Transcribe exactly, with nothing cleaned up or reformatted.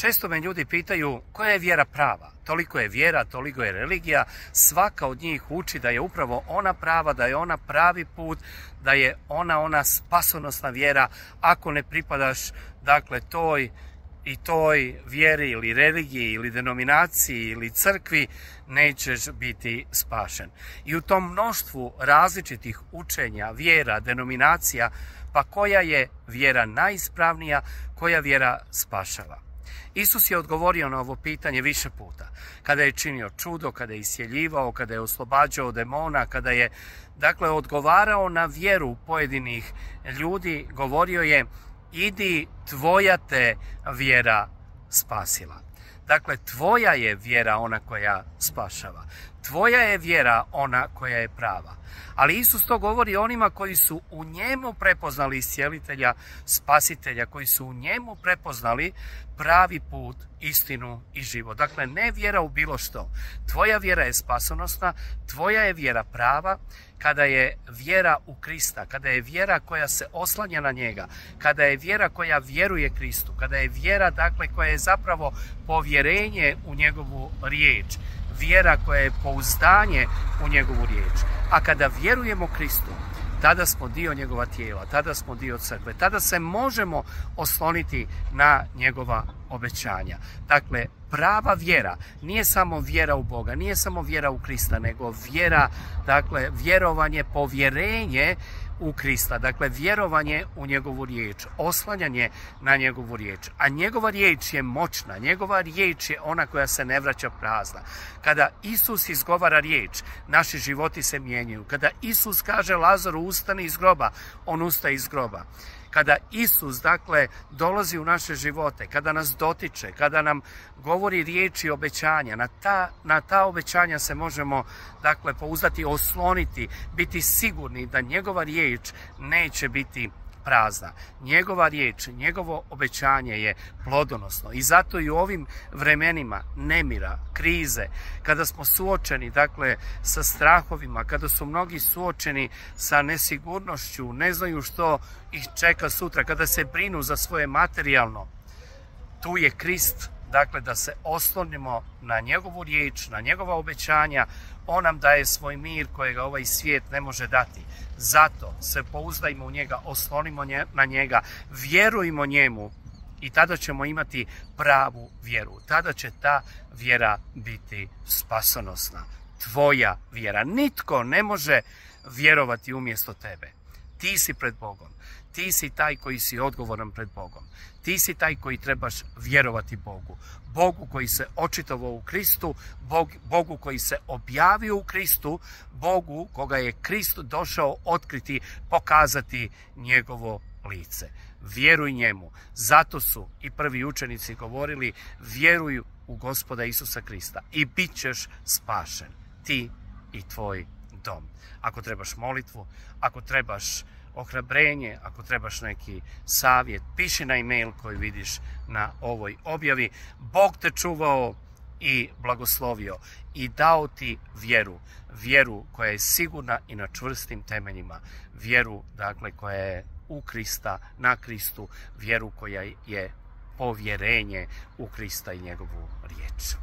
Često me ljudi pitaju koja je vjera prava. Toliko je vjera, toliko je religija. Svaka od njih uči da je upravo ona prava, da je ona pravi put, da je ona ona spasonosna vjera. Ako ne pripadaš dakle toj i toj vjeri ili religiji ili denominaciji ili crkvi, nećeš biti spašen. I u tom mnoštvu različitih učenja, vjera, denominacija, pa koja je vjera najispravnija, koja vjera spašava? Isus je odgovorio na ovo pitanje više puta. Kada je činio čudo, kada je isjeljivao, kada je oslobađao demona, kada je dakle odgovarao na vjeru pojedinih ljudi, govorio je: idi, tvoja te vjera spasila. Dakle, tvoja je vjera ona koja spašava. Tvoja je vjera ona koja je prava. Ali Isus to govori onima koji su u njemu prepoznali iscijelitelja, spasitelja, koji su u njemu prepoznali pravi put, istinu i život. Dakle, ne vjera u bilo što. Tvoja vjera je spasonosna, tvoja je vjera prava, kada je vjera u Krista, kada je vjera koja se oslanja na njega, kada je vjera koja vjeruje Kristu, kada je vjera dakle koja je zapravo povjerenje u njegovu riječ, vjera koja je pouzdanje u njegovu riječ. A kada vjerujemo Kristu, tada smo dio njegova tijela, tada smo dio crkve, tada se možemo osloniti na njegova obećanja. Dakle, prava vjera nije samo vjera u Boga, nije samo vjera u Krista, nego vjera, dakle, vjerovanje, povjerenje u Krista, dakle vjerovanje u njegovu riječ, oslanjanje na njegovu riječ. A njegova riječ je moćna, njegova riječ je ona koja se ne vraća prazna. Kada Isus izgovara riječ, naši životi se mijenjaju. Kada Isus kaže Lazaru ustani iz groba, on ustaje iz groba. Kada Isus, dakle, dolazi u naše živote, kada nas dotiče, kada nam govori riječi obećanja, na ta, na ta obećanja se možemo, dakle, pouzdati, osloniti, biti sigurni da njegova riječ neće biti prazna. Njegova riječ, njegovo obećanje je plodonosno. I zato i u ovim vremenima nemira, krize, kada smo suočeni, dakle, sa strahovima, kada su mnogi suočeni sa nesigurnošću, ne znaju što ih čeka sutra, kada se brinu za svoje materijalno, tu je Krist, dakle, da se oslonimo na njegovu riječ, na njegova obećanja. On nam daje svoj mir kojega ovaj svijet ne može dati. Zato se pouzdajmo u njega, oslonimo na njega, vjerujmo njemu i tada ćemo imati pravu vjeru. Tada će ta vjera biti spasonosna. Tvoja vjera. Nitko ne može vjerovati umjesto tebe. Ti si pred Bogom. Ti si taj koji si odgovoran pred Bogom. Ti si taj koji trebaš vjerovati Bogu. Bogu koji se očitovao u Kristu, Bog, Bogu koji se objavio u Kristu, Bogu koga je Krist došao otkriti, pokazati njegovo lice. Vjeruj njemu. Zato su i prvi učenici govorili: vjeruj u Gospoda Isusa Krista i bit ćeš spašen, ti i tvoj dom. Ako trebaš molitvu, ako trebaš ohrabrenje, ako trebaš neki savjet, piši na e-mail koji vidiš na ovoj objavi. Bog te čuvao i blagoslovio i dao ti vjeru, vjeru koja je sigurna i na čvrstim temeljima, vjeru, dakle, koja je u Krista, na Kristu, vjeru koja je povjerenje u Krista i njegovu riječ.